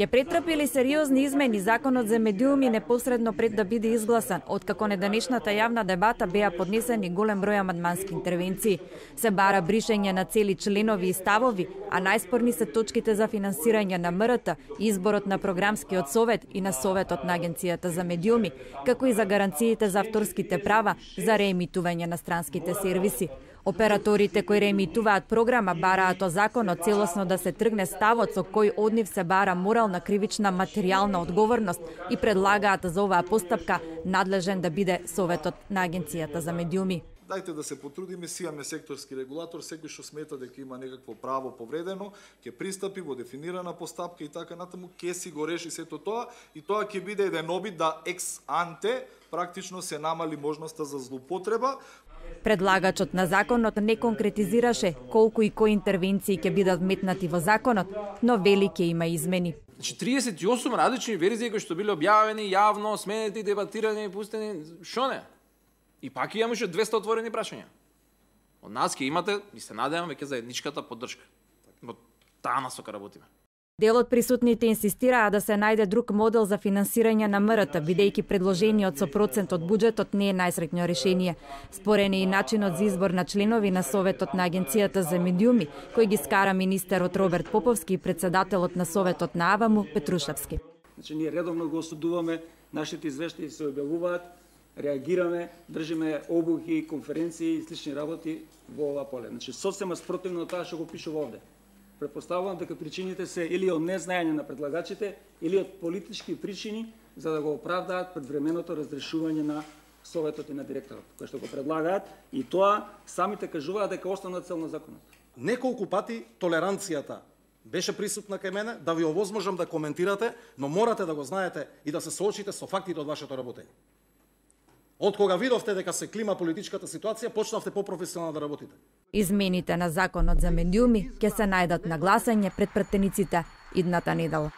Ќе претрпи сериозни измени законот за медиуми непосредно пред да биде изгласан, откако неданешната јавна дебата беа поднесени голем број амандмански интервенции. Се бара бришење на цели членови и ставови, а најспорни се точките за финансирање на МРТ, изборот на програмскиот совет и на советот на Агенцијата за медиуми, како и за гаранциите за авторските права за реемитување на странските сервиси. Операторите кои реемитуваат програма бараат од законот целосно да се тргне ставот со кој од нив се бара морална, кривична, материјална одговорност и предлагаат за оваа постапка надлежен да биде Советот на Агенцијата за медиуми. Дајте да се потрудиме, си имаме секторски регулатор, секој што смета дека има некакво право повредено, ќе пристапи во дефинирана постапка и така натаму, ќе си го реши сето тоа и тоа ќе биде еден обид да екс анте практично се намали можноста за злоупотреба. Предлагачот на законот не конкретизираше колку и кои интервенции ќе бидат вметнати во законот, но вели ќе има измени. 38 различни верзии кои што биле објавени јавно, сменети, дебатирани, пустени, шо не? И пак имаше 200 отворени прашања. Од нас ќе имате, и се надевам, веќе заедничката поддршка. Во таа насока работиме. Дел од присутните инсистираа да се најде друг модел за финансирање на МРТ, бидејќи предложениот со процент од буџетот не е најсреќно решение. Спорен е и начинот за избор на членови на Советот на Агенцијата за медиуми, кој ги скара министерот Роберт Поповски и председателот на Советот на АВАМУ Петрушевски. Значи, ние редовно го осудуваме, нашите извештаи се објавуваат, реагираме, држиме обуки, конференции и слични работи во ова поле. Значи, сосема спротивно тоа што го пишува овде. Предпоставувам дека причините се или од незнаење на предлагачите, или од политички причини за да го оправдаат предвременото разрешување на Советот и на директорот, кој што го предлагаат, и тоа самите кажуваат дека основна цел на законот. Неколку пати толеранцијата беше присутна кај мене, да ви овозможам да коментирате, но морате да го знаете и да се соочите со фактите од вашето работење. Од кога видовте дека се клима политичката ситуација, почнавте попрофесионално да работите. Измените на законот за медиуми ќе се најдат на гласање пред пратениците идната недела.